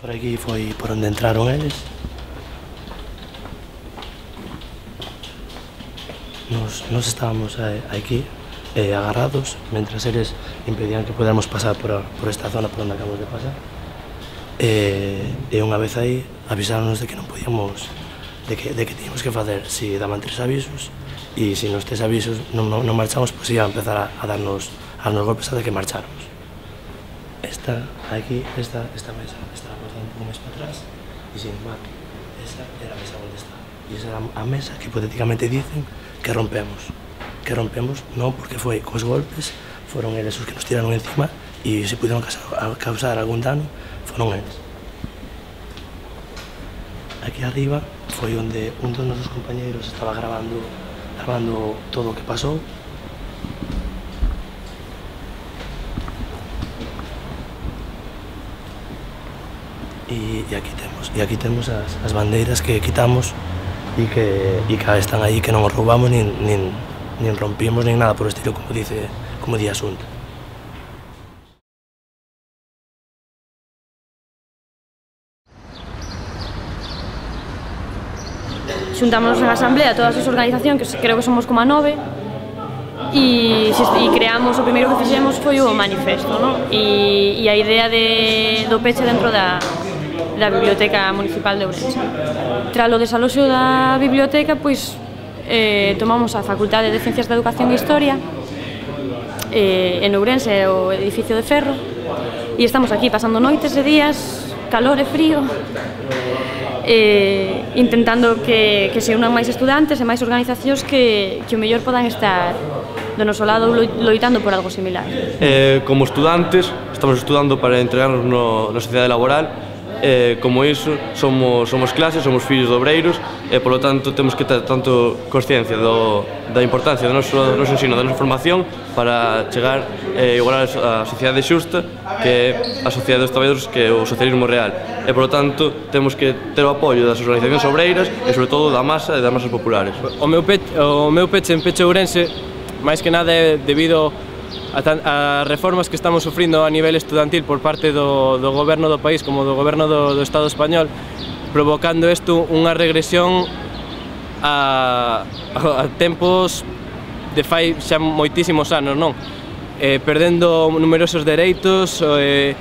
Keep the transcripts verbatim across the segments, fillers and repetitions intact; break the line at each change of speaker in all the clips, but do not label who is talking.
Por aquí foi por onde entraron eles. Nos, nos estábamos aquí eh, agarrados, mentras eles impedían que podamos pasar por, a, por esta zona por onde acabamos de pasar. E, e unha vez aí avisáronos de que non podíamos, de que, de que teníamos que facer, si daban tres avisos, e se nos tres avisos non, non, non marchamos, pois pues iba a empezar a, a darnos, a darnos golpes hasta que marcháramos. Esta, aquí, esta, esta mesa, esta la portada un pouco máis para atrás, e sin embargo, esa era a mesa onde está. E esa era a mesa que hipotéticamente dicen que rompemos. Que rompemos, non porque foi cos golpes, foron eles os que nos tiraron encima, e se pudieron causar algún dano, foron eles. Aquí arriba foi onde un dos nosos compañeiros estaba grabando, grabando todo o que pasou. E, e aquí temos, e aquí temos as, as bandeiras que quitamos e que, e que están aí, que non os roubamos, nin, nin, nin rompimos, nin nada por o estilo, como dice, como di a Xunta.
Xuntámonos en asamblea todas as organizacións, que creo que somos como a nove, e, e creamos, o primeiro que fixemos foi o manifesto, no? e, e a idea de, do peche dentro da, da Biblioteca Municipal de Ourense. Tras o desaloxo da biblioteca, pois, eh, tomamos a Facultade de Ciencias da Educación e Historia, eh, en Ourense, o edificio de ferro, e estamos aquí pasando noites e días, calor e frío, eh, intentando que, que se unan máis estudantes e máis organizacións que, que o mellor podan estar do noso lado loitando por algo similar.
Eh, como estudantes, estamos estudando para entregarnos no, na sociedade laboral. Eh, como iso, somos, somos clases, somos fillos de obreiros e, polo tanto, temos que ter tanto consciencia do, da importancia do noso, do noso ensino, da nosa formación para chegar e eh, igualar a sociedade xusta, que é a sociedade dos traballadores, que é o socialismo real. E, polo tanto, temos que ter o apoio das organizacións obreiras e, sobre todo, da masa e das masas populares.
O meu peche, o meu peche en Peche Ourense, máis que nada é debido a, a reformas que estamos sufrindo a nivel estudantil por parte do, do goberno do país como do goberno do, do Estado español, provocando isto unha regresión a, a, a tempos de fai xa moitísimos anos, non? Eh, perdendo numerosos dereitos, eh,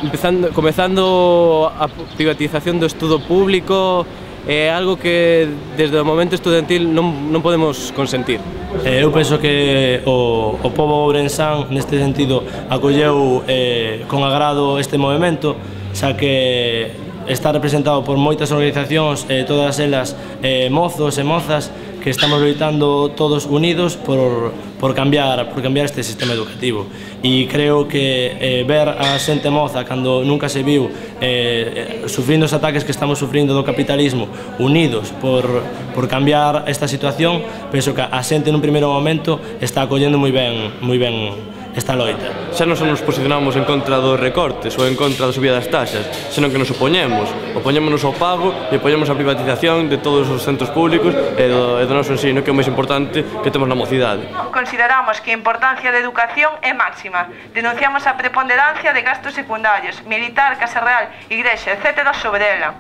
empezando, comezando a privatización do estudo público, é algo que desde o momento estudantil non, non podemos consentir.
Eu penso que o, o pobo ourensán neste sentido acolleu eh, con agrado este movimento, xa que está representado por moitas organizacións, eh, todas elas eh, mozos e mozas, que estamos loitando todos unidos por, por, cambiar, por cambiar este sistema educativo. E creo que eh, ver a xente moza, cando nunca se viu, eh, sufrindo os ataques que estamos sufrindo do capitalismo, unidos por, por cambiar esta situación, penso que a xente nun primeiro momento está acollendo moi ben, moi ben esta loita.
Xa non só nos posicionamos en contra dos recortes ou en contra da subida das taxas, senón que nos opoñemos. Opoñémonos ao pago e opoñemos a privatización de todos os centros públicos e do, e do noso ensino, que é o máis importante que temos na mocidade.
Consideramos que a importancia da educación é máxima. Denunciamos a preponderancia de gastos secundarios, militar, Casa Real, Igrexa, etcétera sobre ela.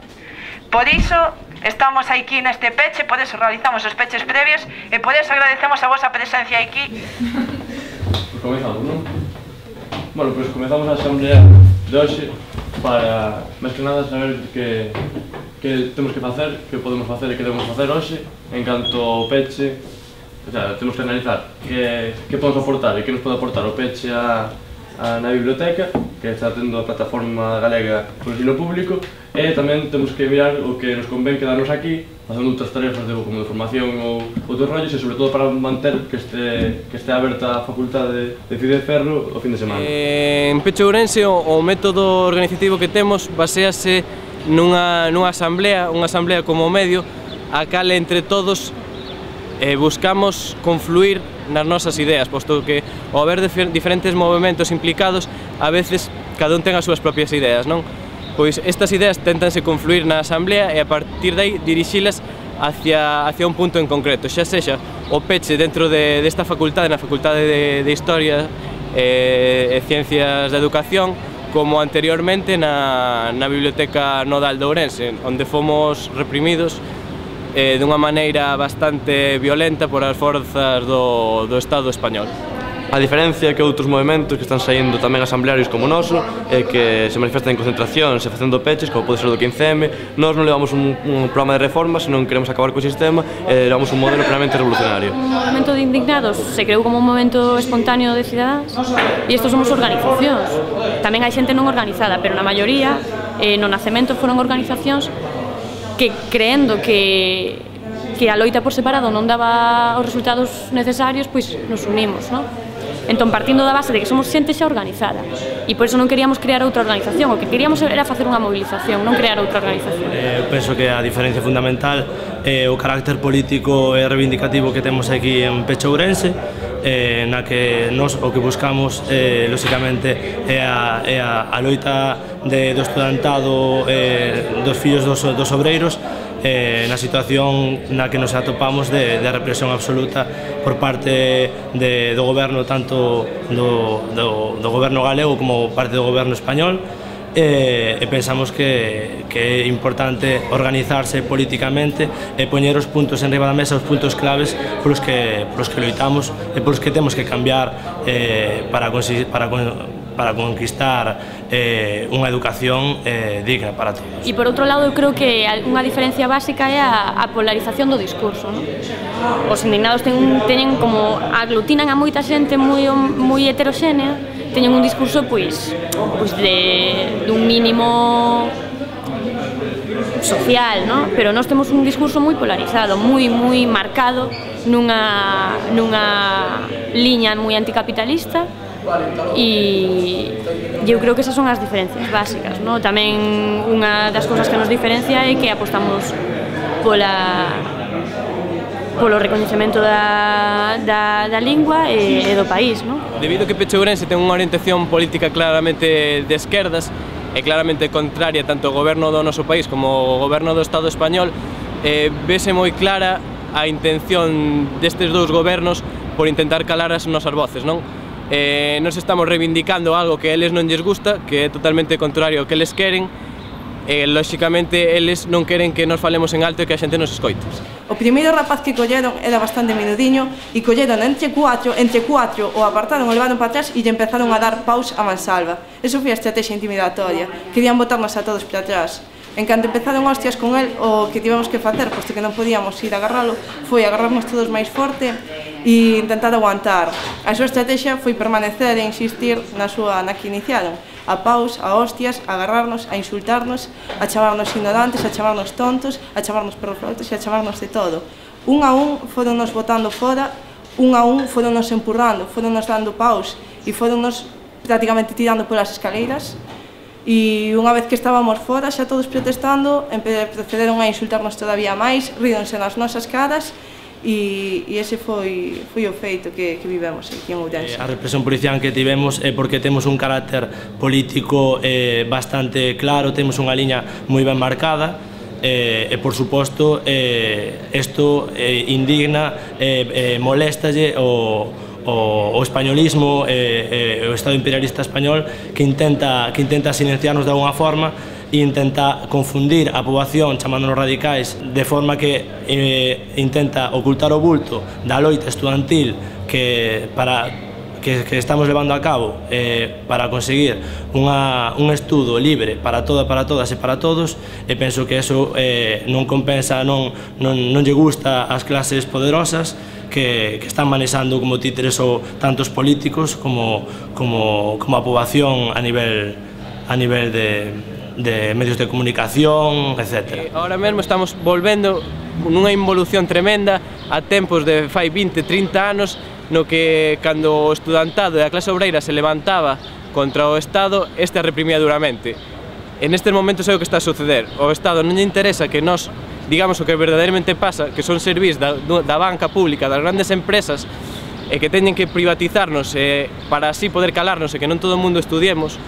Por iso, estamos aquí neste peche, por iso realizamos os peches previos e por iso agradecemos a vosa presencia aquí.
Comezamos, non? Bueno, pois comezamos a asamblea de hoxe para, máis que nada, saber que, que temos que facer, que podemos facer e que debemos facer hoxe en canto ao peche. O sea, temos que analizar que, que podemos aportar e que nos pode aportar o peche a, a, na biblioteca, que está tendo a plataforma galega por ensino público, e tamén temos que mirar o que nos convén quedarnos aquí facendo outras tarefas de, como de formación ou outros rollos, e sobre todo para manter que este, que este aberta a facultade de Fide de Ferro o fin de semana.
Eh, en Peche Ourense o, o método organizativo que temos basease nunha, nunha asamblea, unha asamblea como medio, a cal entre todos eh, buscamos confluir nas nosas ideas, posto que ao haber diferentes movimentos implicados, a veces cada un ten as súas propias ideas, non? Pois estas ideas tentanse confluir na asamblea e a partir de aí dirixilas hacia, hacia un punto en concreto, xa sexa o peche dentro de, desta facultade, na Facultade de, de Historia e, e Ciencias da Educación, como anteriormente na, na Biblioteca Nodal de Ourense, onde fomos reprimidos eh, dunha maneira bastante violenta por as forzas do, do Estado español.
A diferencia que outros movimentos que están saindo tamén asamblearios como o noso, e que se manifestan en concentracións e facendo peches, como pode ser o do quince eme, nós non levamos un, un programa de reforma, senón queremos acabar co sistema e levamos un modelo plenamente revolucionario.
O movimento de indignados se creou como un momento espontáneo de cidadáns e estos somos organizacións. Tamén hai xente non organizada, pero na maioría eh, no nacemento foron organizacións que creendo que que a loita por separado non daba os resultados necesarios, pois nos unimos, non? Entón, partindo da base de que somos xente xa organizada e por iso non queríamos crear outra organización, o que queríamos era facer unha movilización, non crear outra organización.
Eu penso que a diferencia fundamental é o carácter político e reivindicativo que temos aquí en Pecho Ourense, eh, na que nos o que buscamos, eh, lóxicamente, é a, é a, a loita de, do estudantado, eh, dos fillos dos, dos obreiros, eh, na situación na que nos atopamos de, de represión absoluta por parte de, do goberno, tanto do, do, do goberno galego como parte do goberno español, e, e pensamos que, que é importante organizarse políticamente e poñer os puntos en riba da mesa, os puntos claves polos que, polos que loitamos e polos que temos que cambiar eh, para, para, para conquistar eh, unha educación eh, digna para todos.
E por outro lado, eu creo que unha diferencia básica é a, a polarización do discurso, non? Os indignados ten, teñen como aglutinan a moita xente moi, moi heteroxénea, teñen un discurso pois, pois de, dun mínimo social, non? Pero nós temos un discurso moi polarizado, moi moi marcado nunha, nunha liña moi anticapitalista, e eu creo que esas son as diferencias básicas, non? Tamén unha das cousas que nos diferencia é que apostamos pola polo recoñecemento da, da, da lingua e, e do país, non?
Debido a que Pecho Ourense ten unha orientación política claramente de esquerdas e claramente contraria tanto ao goberno do noso país como ao goberno do Estado español, eh, vese moi clara a intención destes dous gobernos por intentar calar as nosas voces, non? Eh, nos estamos reivindicando algo que a eles non lles gusta, que é totalmente contrario ao que eles queren, e, lóxicamente, eles non queren que nos falemos en alto e que a xente nos escoite.
O primeiro rapaz que colleron era bastante menudiño e colleron entre cuatro, entre cuatro o apartaron, o levaron para atrás e lle empezaron a dar paus a mansalva. Eso foi a estrategia intimidatoria. Querían botarnos a todos para atrás. En canto empezaron hostias con el, o que tivemos que facer, posto que non podíamos ir a agarralo, foi agarrarnos todos máis forte e intentar aguantar. A súa estrategia foi permanecer e insistir na súa na que iniciaron. A paus, a hostias, a agarrarnos, a insultarnos, a chamarnos ignorantes, a chamarnos tontos, a chamarnos perroflautas e a chamarnos de todo. Un a un foronnos botando fora, un a un foronnos empurrando, foronnos dando paus e foronnos prácticamente tirando polas escaleiras. E unha vez que estábamos fora, xa todos protestando, procederon a insultarnos todavía máis, ríronse nas nosas caras, e, e ese foi, foi o feito que, que vivemos aquí en Ourense.
A represión policial que tivemos é porque temos un carácter político eh, bastante claro, temos unha liña moi ben marcada, eh, e por suposto eh, isto eh, indigna e eh, eh, moléstalle o o, o españolismo e eh, eh, o Estado imperialista español que intenta, que intenta silenciarnos de alguna forma e intenta confundir a poboación chamándonos radicais de forma que eh, intenta ocultar o bulto da loita estudantil que para que, que estamos levando a cabo eh, para conseguir unha, un estudo libre para toda, para todas e para todos, e penso que eso eh, non compensa, non, non, non lle gusta ás clases poderosas que, que están manexando como títeres o tantos políticos como, como, como a poboación a nivel, a nivel de, de medios de comunicación, etcétera.
Ahora mesmo estamos volvendo nunha involución tremenda a tempos de fai vinte, trinta anos, no que cando o estudantado e a clase obreira se levantaba contra o Estado, este a reprimía duramente. En estes momentos é o que está a suceder. O Estado non lle interesa que nós digamos o que verdadeiramente pasa, que son servís da, da banca pública, das grandes empresas, e que teñen que privatizarnos eh, para así poder calarnos e que non todo o mundo estudiemos,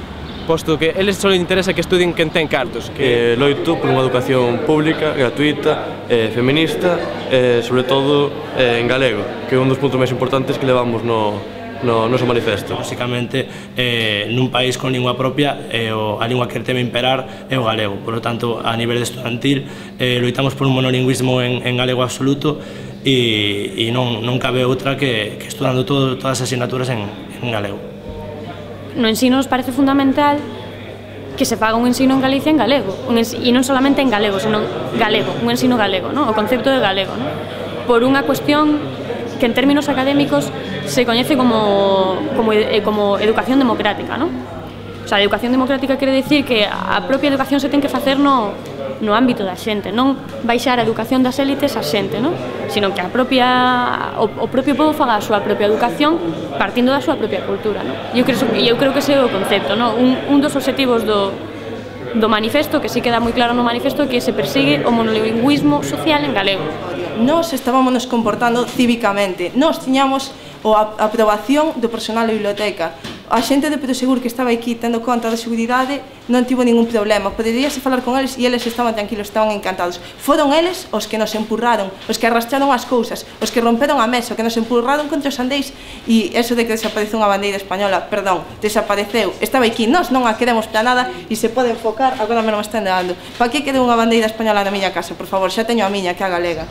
posto que eles só interesa que estudien quen ten cartos.
Que loito por unha educación pública, gratuita, eh, feminista, e eh, sobre todo eh, en galego, que é un dos puntos máis importantes que levamos no, no, no seu manifesto.
Básicamente, eh, nun país con lingua propia, eh, o, a lingua que teme imperar é o galego. Por lo tanto, a nivel estudantil, eh, loitamos por un monolingüismo en, en galego absoluto e, e non, non cabe outra que, que estudando todo, todas as asignaturas en, en galego.
No ensino nos parece fundamental que se faga un ensino en Galicia en galego, un ensino, e non solamente en galego, sino galego, un ensino galego, ¿no? O concepto de galego, ¿no? Por unha cuestión que en términos académicos se coñece como, como, como educación democrática, ¿no? O sea, a educación democrática quere dicir que a propia educación se ten que facer no, no ámbito da xente, non baixar a educación das élites a xente, non? Sino que a propia, o, o propio povo faga a súa propia educación partindo da súa propia cultura, non? Eu creo, eu creo que ese é o concepto, non? Un, un dos obxectivos do, do manifesto, que sí queda moi claro no manifesto, que se persigue o monolingüismo social en galego.
Nós estábamos nos comportando cívicamente, nós tiñamos a aprobación do personal da biblioteca. A xente de Prosegur que estaba aquí tendo conta da seguridade non tivo ningún problema, poderíase falar con eles e eles estaban tranquilos, estaban encantados. Foron eles os que nos empurraron, os que arrastraron as cousas, os que romperon a mesa, os que nos empurraron contra os andeis, e eso de que desapareceu unha bandeira española, perdón, desapareceu, estaba aquí, nós non a queremos para nada e se pode enfocar, agora me non me están dando. Para que quede unha bandeira española na miña casa, por favor, xa teño a miña que é a galega.